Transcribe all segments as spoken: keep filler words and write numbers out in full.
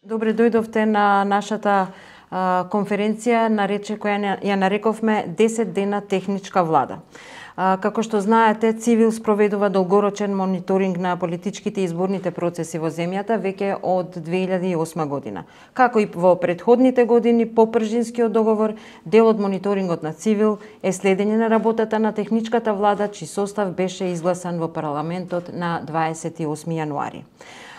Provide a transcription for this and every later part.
Добре дојдовте на нашата а, конференција, нарече, која ја нарековме десет дена техничка влада. А, како што знаете, Цивил спроведува долгорочен мониторинг на политичките и изборните процеси во земјата веќе од две илјади и осма година. Како и во претходните години, по Пржинскиот договор, дел од мониторингот на Цивил е следење на работата на техничката влада, чиј состав беше изгласан во парламентот на дваесет и осми јануари.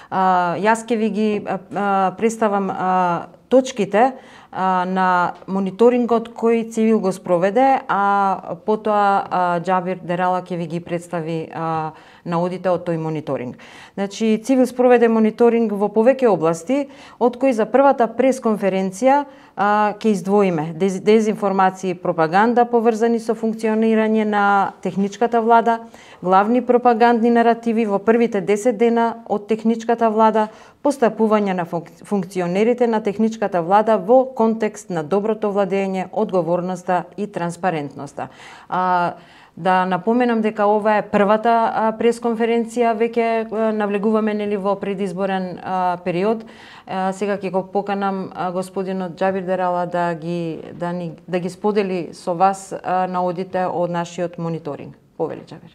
Uh, јас ќе ви ги uh, представам uh, точките uh, на мониторингот кој Цивил го спроведе, а потоа uh, Џабир Дерала ќе ви ги представи uh, наодите од тој мониторинг. Значи, Цивил спроведе мониторинг во повеќе области, од кои за првата пресконференција uh, ќе издвоиме дез, дезинформација и пропаганда поврзани со функционирање на техничката влада, главни пропагандни наративи во првите десет дена од техничката влада, постапување на функционерите на техничката влада во контекст на доброто владење, одговорноста и транспарентноста. А, да напоменам дека ова е првата а, пресконференција, веќе а, навлегуваме нели во предизборен а, период. А, сега ќе го поканам а, господинот Џабир Дерала да ги да ни да ги сподели со вас а, наодите од нашиот мониторинг. Повели, Џабир.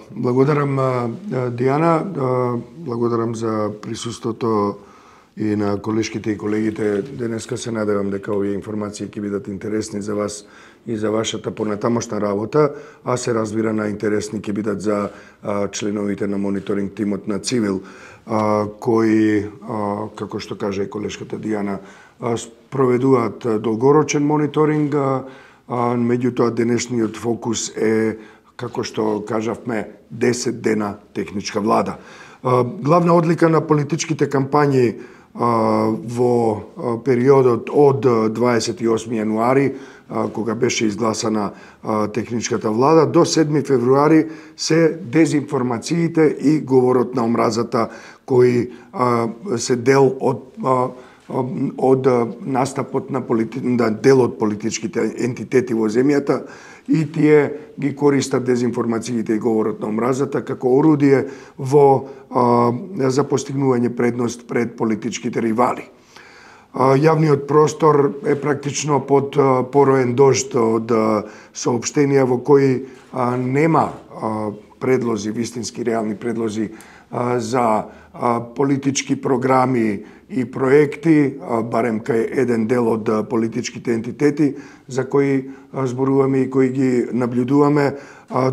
Благодарам, Дијана, благодарам за присуството и на колешките и колегите. Денеска се надевам дека овие информации ќе бидат интересни за вас и за вашата понатамошна работа, а се разбира најинтересни ќе бидат за членовите на мониторинг тимот на Цивил, кои, како што каже колешката Дијана, проведуваат долгорочен мониторинг, меѓутоа денешниот фокус е, како што кажавме, десет дена техничка влада. Главна одлика на политичките кампањи во периодот од дваесет и осми јануари, кога беше изгласана техничката влада, до седми февруари се дезинформациите и говорот на омразата, кои се дел од од настапот на, полити... на дел од политичките ентитети во земјата, и тие ги користат дезинформациите и говорот на омразата како орудие во а, за постигнување предност пред политичките ривали. А, јавниот простор е практично под а, пороен дожд од а, соопштенија во кои а, нема а, предлози, вистински реални предлози а, за а, политички програми и проекти, барем кај еден дел од политичките ентитети за кои зборуваме и кои ги наблюдуваме,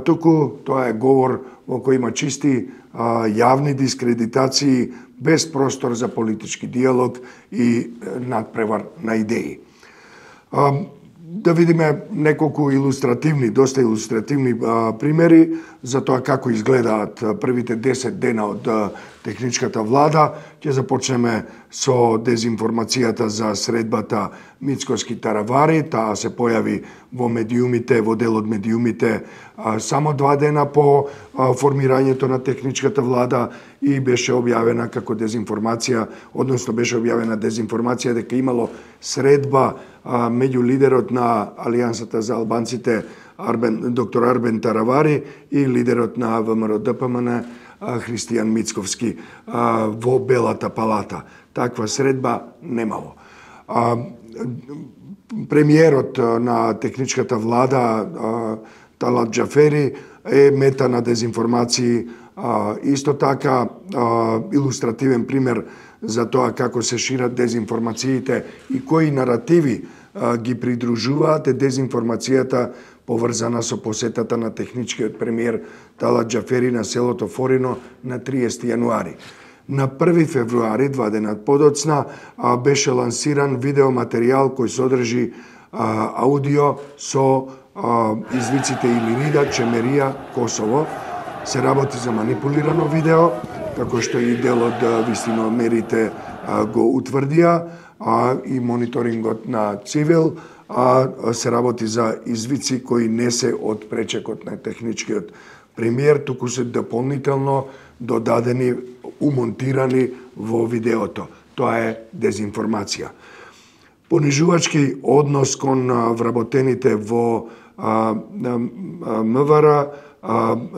туку тоа е говор во кој има чисти јавни дискредитации, без простор за политички диалог и надпревар на идеи. Да видиме неколку илустративни, доста илустративни а, примери за тоа како изгледаат првите десет дена од а, техничката влада. Ќе започнеме со дезинформацијата за средбата Мицкоски Таравари. Таа се појави во медиумите, во дел од медиумите а, само два дена по а, формирањето на техничката влада и беше објавена како дезинформација, односно беше објавена дезинформација дека имало средба а, меѓу лидерот на Алијансата за албанците Арбен, доктор Арбен Таравари и лидерот на ВМРО Д П М Н Христијан Мицковски а, во Белата палата. Таква средба немало. А, премиерот на техничката влада а, Талат Џафери е мета на дезинформации. А, исто така а, илустративен пример за тоа како се шират дезинформациите и кои наративи а, ги придружуваат е дезинформацијата поврзана со посетата на техничкиот премиер Талат Џафери на селото Форино на триесети јануари. На први февруари, два дена подоцна, а, беше лансиран видеоматеријал кој содржи а, аудио со а, извиците Илирида, Чемерија, Косово. Се работи за манипулирано видео, како што и дел од вистиномерите го утврдија, а и мониторингот на Цивил, а се работи за извици кои не се од пречекот на техничкиот премиер, туку се дополнително додадени, умонтирани во видеото. Тоа е дезинформација. Понижувачки однос кон вработените во М В Р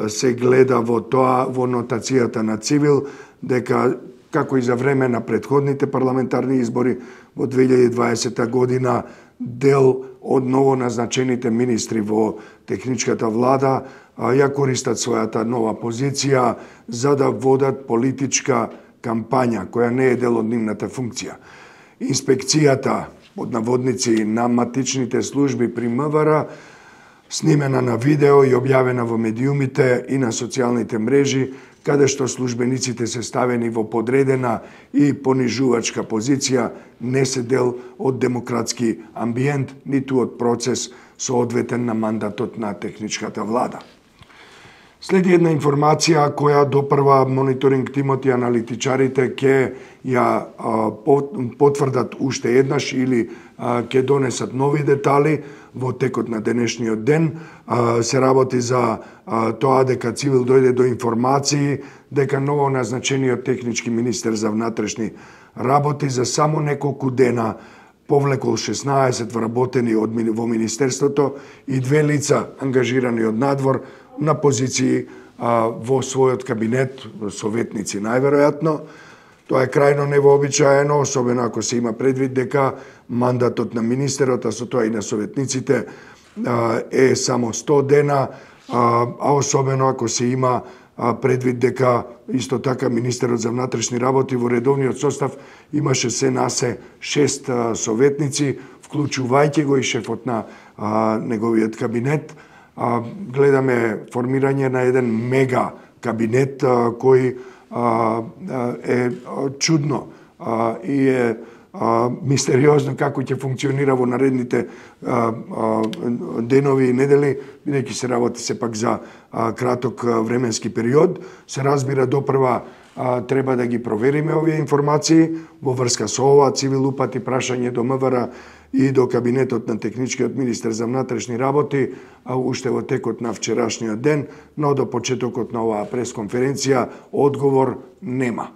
се гледа во тоа, во нотацијата на Цивил, дека како и за време на претходните парламентарни избори во две илјади и дваесета година, дел од новоназначените министри во техничката влада ја користат својата нова позиција за да водат политичка кампања која не е дел од нивната функција. Инспекцијата под наводници на матичните служби при МВР, снимена на видео и објавена во медиумите и на социјалните мрежи, каде што службениците се ставени во подредена и понижувачка позиција, не се дел од демократски амбиент, ниту од процес соодветен на мандатот на техничката влада. Следи една информација која допрва мониторинг тимот и аналитичарите ќе ја потврдат уште еднаш или ќе донесат нови детали во текот на денешниот ден. Се работи за тоа дека Цивил дојде до информации дека ново назначениот технички министер за внатрешни работи за само неколку дена повлекол шеснаесет вработени од во министерството и две лица ангажирани од надвор на позиции а, во својот кабинет, советници најверојатно. Тоа е крајно невообичаено, особено ако се има предвид дека мандатот на министерот, а со тоа и на советниците, а, е само сто дена, а, а особено ако се има а, предвид дека исто така министерот за внатрешни работи во редовниот состав имаше се насе шест а, советници, вклучувајќи го и шефот на а, неговиот кабинет. А, гледаме формирање на еден мега кабинет а, кој а, е чудно а, и е а, мистериозно како ќе функционира во наредните а, а, денови и недели, бидејќи се работи сепак за а, краток а, временски период. Се разбира допрва а, треба да ги провериме овие информации во врска со ова. Цивил упати прашање до МВР и до кабинетот на техничкиот министер за внатрешни работи, а уште во текот на вчерашниот ден, но до почетокот на оваа пресконференција одговор нема.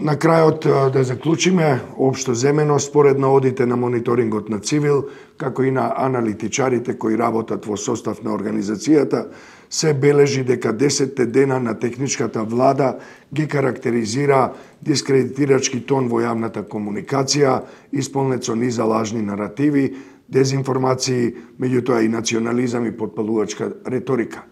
На крајот да заклучиме, општо земено, според наодите на мониторингот на Цивил, како и на аналитичарите кои работат во состав на организацијата, се бележи дека десетте дена на техничката влада ги карактеризира дискредитирачки тон во јавната комуникација, исполнет со низа лажни наративи, дезинформации, меѓутоа и национализам и потпалувачка реторика.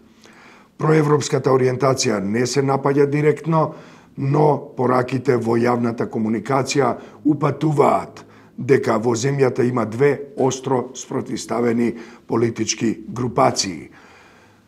Проевропската ориентација не се напаѓа директно, но пораките во јавната комуникација упатуваат дека во земјата има две остро спротивставени политички групации.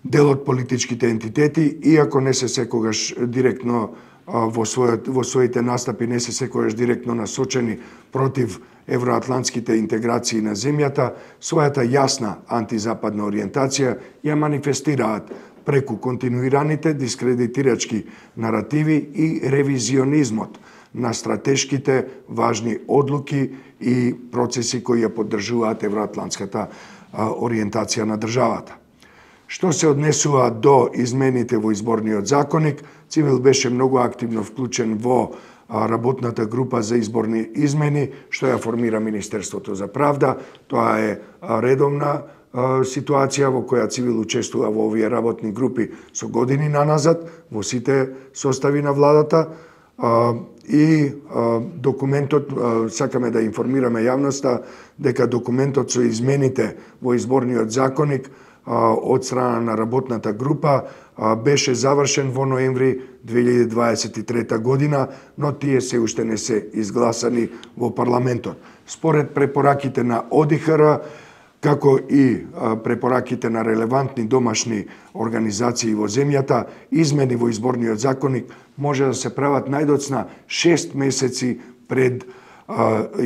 Дел од политичките ентитети, иако не се секогаш директно во, својот, во своите настапи не се секогаш директно насочени против евроатлантските интеграции на земјата, својата јасна антизападна ориентација ја манифестираат преку континуираните дискредитирачки наративи и ревизионизмот на стратешките важни одлуки и процеси кои ја поддржуваат евроатлантската ориентација на државата. Што се однесува до измените во изборниот законник, Цивил беше многу активно вклучен во работната група за изборни измени, што ја формира Министерството за правда. Тоа е редовна ситуација во која Цивил учествува во овие работни групи со години наназад, во сите состави на владата. И документот, сакаме да информираме јавноста дека документот со измените во изборниот законник од страна на работната група беше завршен во ноември две илјади дваесет и трета година, но тие се уште не се изгласани во парламентот. Според препораките на О Д Х Р, како и препораките на релевантни домашни организации во земјата, измени во изборниот законник може да се прават најдоцна шест месеци пред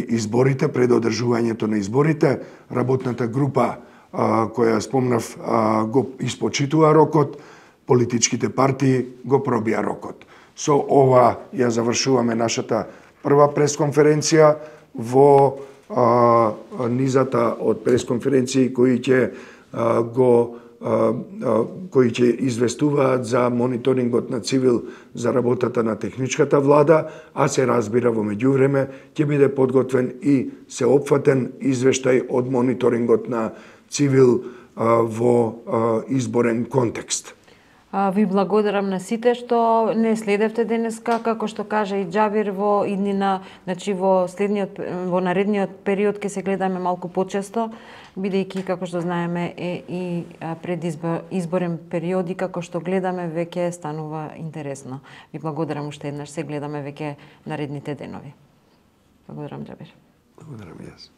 изборите, пред одржувањето на изборите. Работната група која спомнав го испочитува рокот, политичките партии го пробија рокот. Со ова ја завршуваме нашата прва пресконференција во а, низата од пресконференции кои ќе а, го а, а, кои ќе известуваат за мониторингот на Цивил за работата на техничката влада, а се разбира во меѓувреме ќе биде подготвен и сеопфатен извештај од мониторингот на Цивил а, во а, изборен контекст. Ви благодарам на сите што не следевте денеска, како што кажа и Џабир, во иднина, значи во следниот во наредниот период ќе се гледаме малку почесто, бидејќи како што знаеме е и пред избор, изборен период и како што гледаме веќе станува интересно. Ви благодарам уште еднаш, се гледаме веќе наредните денови. Благодарам, Џабир. Благодарам и јас.